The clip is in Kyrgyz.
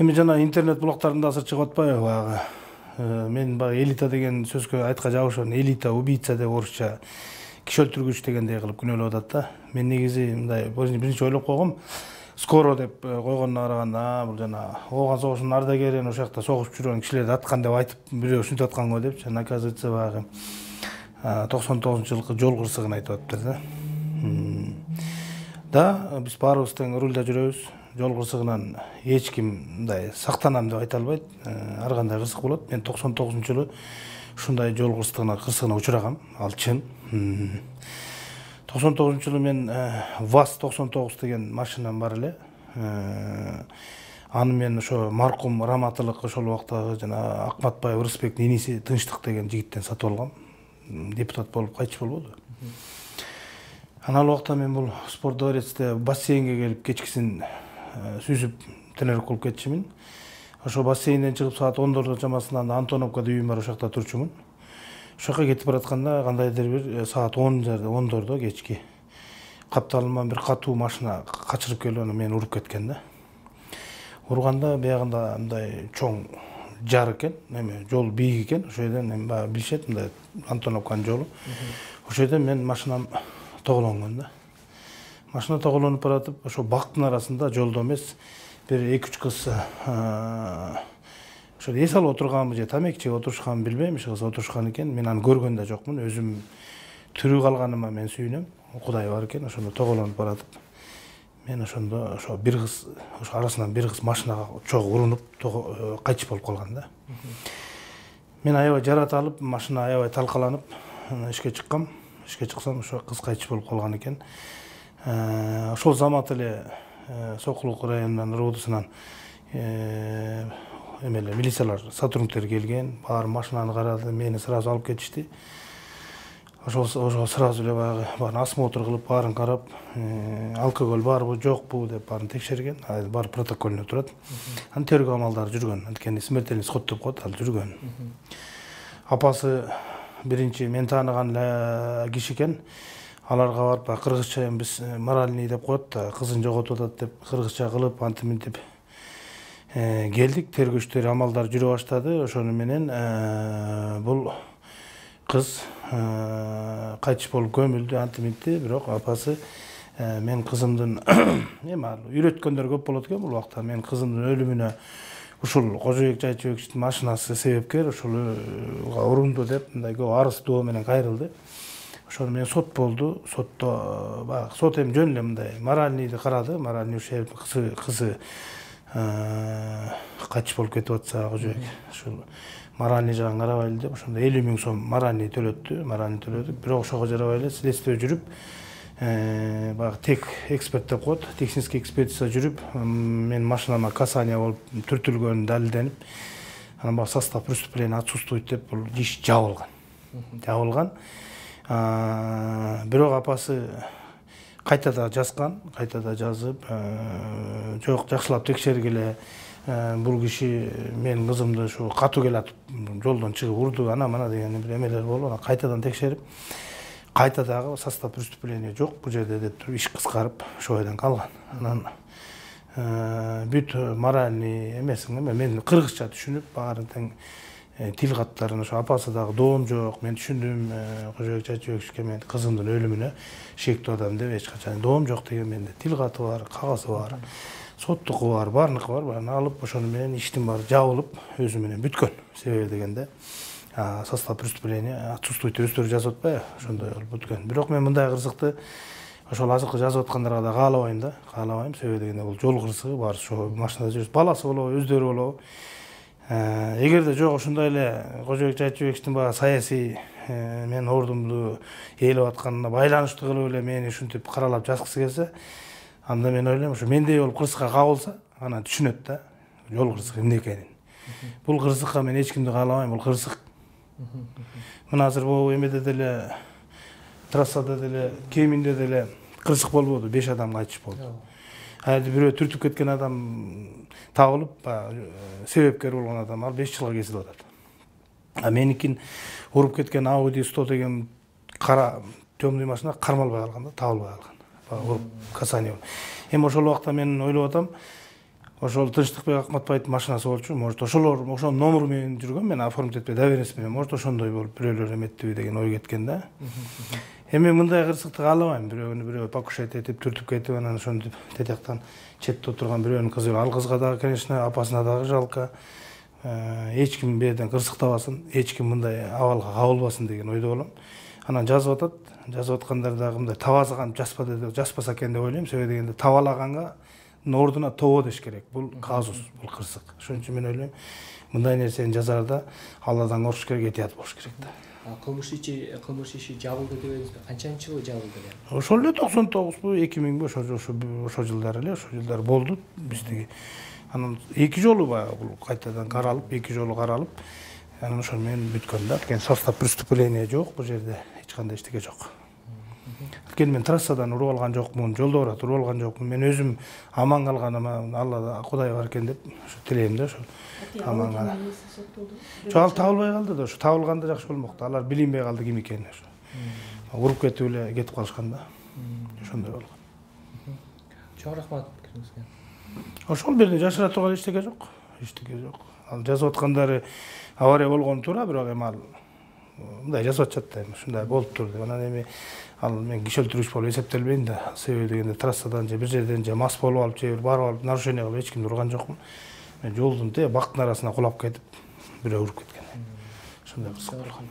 Эми жана интернет булактарында азыр чыгып атпайбы баягы. Мен баягы элита деген сөзгө айтка жабышып, элита убийца деп орусча киши өлтүргүч дегендей кылып күнөөлөп атат да. Мен негизи мындай биринчи ойлоп койгом, скоро деп койгонуна караганда, бул жана Ооган согушунун ардагери, ошол жакта согушуп жүргөн кишилерди аткан деп айтып, бирөө ушинтип аткан го депчи. Оказывается, баягы 99-жылкы жол кырсыгын айтып атыптыр да. Биз баарыбыз тең рулда жүрөбүз. Жол кырсыгынан эч ким мындай сактанам деп айта албайт. Ар кандай кырсык болот. Мен 99-жылы ушундай жол кырсыгына учурагам. Ал чын. 99-жылы мен ВАЗ-99 деген машинам бар эле. Аны мен ошо маркум Раматылык ошол убактагы жана Акматбаев Рысбектин иниси Тынчтык деген жигиттен сатып алгам. Депутат болуп кайтыш болбоду. Анал убакта мен бул спорт дворецте бассейнге келип кечкисин сүзүп тренировка кылып кетчүмүн. Ошо бассейнден чыгып саат 10 чамасында Антоновкада үйүм бар, ошол жакта турчумун. Ошол жака кетип баратканда кандайдыр бир саат 10 кечки капталыман бир катуу машина качырып келип аны мени уруп кеткен да. Урганда биягында мындай чоң жар экен, эме жол бийик экен. Ошол жерден эми баягы билишет, мындай Антоновканын жолу. Ошол жерден мен машинам тоголонгон да. Машина тоголонуп баратып, ошо бактын арасында жолдо эмес, бир 2-3 кыз ошо эс алып отурганбы же тамеки чегип отурушканбы билбейм, ошо кыз отурушкан экен. Мен аны көргөн да жокмун. Өзүм тирүү калганыма мен сүйүнөм. Кудай бар экен. Ошондо тоголонуп баратып, мен ошондо ошо бир кыз, ошо арасынан бир кыз машинага чогуу урунуп кайтыш болуп калган да. Мен аябай жарат алып, машина аябай талкаланып, ишке чыккам. Ишке чыксам, ошо кыз кайтыш болуп калган экен. Ошол замат эле Сокулук районунун РУДсунан эмелер, милициялар, сотрудниктер келген, баары машинаны карады, мени сразу алып кетишти. Ошо сразу эле баягы баарын осмотр кылып, баарын карап, алкоголь барбы, жокпу деп баарын текшерген. Баары протоколуна турат. Анын тергөө амалдары жүргөн. Анткени смертельный исход деп коет, ал жүргөн. Апасы биринчи мен тааныган киши экен. Аларга барып, кыргызча биз моральный деп коет да, кызын жоготуп атат деп кыргызча кылып, антип келдик. Тергөөчтөр амалдар жүрө баштады. Ошону менен бул кыз кайтыш болуп көмүлдү, антиминти. Бирок апасы мен кызымдын эми үйрөткөндөр көп болот экен бул убакта. Мен кызымдын өлүмүнө ушул Кожобек Жайчыбековичтин машинасы себепкер, ушулга урунду деп мындай көп арыз доо менен кайрылды. Ошону менен сот болду. Сотто баягы сот эми жөн эле мындай моральныйды карады. Моральный кызы кайтыш болуп кетип атса, Кожобек ушул моральный жагын карабайлы деп ошондо 50 000 сом моральный төлөдүк. Бирок ошого жарабай эле следствие жүрүп, баягы тек эксперт деп коет, технический экспертиза жүрүп, мен машинама касание болуп түртүлгөнү далилденип, анан баягы состав преступления отсутствует деп бул иш жабылган. Бирок апасы кайтада жазган, кайтада жазып, жок, жакшылап текшергиле, бул киши менин кызымды ушу катуу келатып жолдон чыгып урду, ана деген бир эмелер болуп, анан кайтадан текшерип, кайтадагы состав преступления жок бул жерде деп туруп иш кыскарып ошол жерден калган. Анан бүт моральный эмесин мен кыргызча түшүнүп, баарын тең тил каттарын, ошо апасы дагы доом жок, мен түшүндүм, Кожобек Жайчыбековичке мен кызымдын өлүмүнө шектүү адам деп эч качан доом жок деген, менде тил каты бар, кагазы бар, соттуку бар, баарыныкы бар. Баарын алып, ошону менен иштин баары жабылып, өзү менен бүткөн. Себеби дегенде состав преступления отсутствует өздөрү жазып атпайбы, ошондой кылып бүткөн. Бирок мен мындай кырсыкты ошол азыркы жазып аткандарга да каалабайм. Себеби дегенде бул жол кырсыгы, баары ошо машинада жүрүп, баласы болобу, өздөрү болобу. Эгерде жок ошондой эле Кожобек Жайчыбековичтин баягы саясий мен ордумду ээлеп атканына байланыштуу кылып эле мени ушинтип каралап жазгысы келсе, анда мен ойлойм, ошо мендей болуп кырсыкка кабылса, анан түшүнөт да жол кырсыгы эмне экенин. Бул кырсыкка мен эч кимди каалабайм, бул кырсык. Мына азыр бул эмеде деле, трассада деле, Кеминде деле кырсык болбоду, 5 адам кайтыш болду. Айды бирөө түртүп кеткен адам табылып, себепкер болгон адам ал 5 жылга кесилип атат. Меникин уруп кеткен Audi 100 деген кара темный машина кармалбай калган да, табылбай калган. Уруп касание. Эми ошол убакта мен ойлоп атам, ошол Тынчтыкбек Акматбаевдин машинасы болчу. Может ошолор ошонун номеру менен жүргөн, мен оформить этпей доверенность менен, может ошондой болуп бирөөлөр эметтиби деген ой кеткен да. Эми мындай кырсыкты каалабайм. Бирөө покушать этип түртүп кетип, анан ошентип тетияктан четте отурган бирөөнүн кызы. Ал кызга дагы, конечно, апасына дагы жалко. Эч ким беден кырсыктабасын, эч ким мындай абалга кабылбасын деген ойдо болом. Анан жазып атат. Жазып аткандар дагы мындай табазаган жазбаса экен деп ойлойм. Себеби дегенде табалаганга ордуна тобо деш керек. Бул казус, бул кырсык. Ошон үчүн мен ойлойм, мындай нерсени жазарда Алладан коркуш керек, этият болуш керек да. Кылмыш иши жабылды дебедиңизби? Канчанчы жылы жабылды эле? Ошол эле 99бу, 2000бу, ошол жылдары эле, ошол жылдары болду биздики. Анан 2 жолу баягы бул кайтадан каралып, 2 жолу каралып, анан ошол менен бүткөн да. Кен состав преступления жок, бул жерде эч кандай эчтеке жок. Кен мен трассадан уруп алган жокмун, жолдо барат уруп алган жокмун. Мен өзүм аман калганыма Аллада Кудай бар экен деп тилейм да, ошол. Аман калган. Жок, ал табылбай калды да, ошо табылганда жакшы болмокту. Алар билинбей калды ким экенин ошо. Уруп кетип эле кетип калышкан да. Ошондой болгон. Чоң рахмат пикириңизге. Ошол жерде жашыра турган эчтеке жок. Эчтеке жок. Ал жазып аткандары авария болгону туура, бирок эми ал мындай жазып атышат да, эми ушундай болуптур деп. Анан эми ал мен киши өлтүрүүчү болуп эсептелбейм да. Себеби дегенде трассадан же бир жерден же мас болуп алып, же барып алып нарушение кылып эч кимди урган жокмун. Мен жолдун бактын арасына кулап кетип, бирөө уруп кеткен. Ошондой кырсык болгон.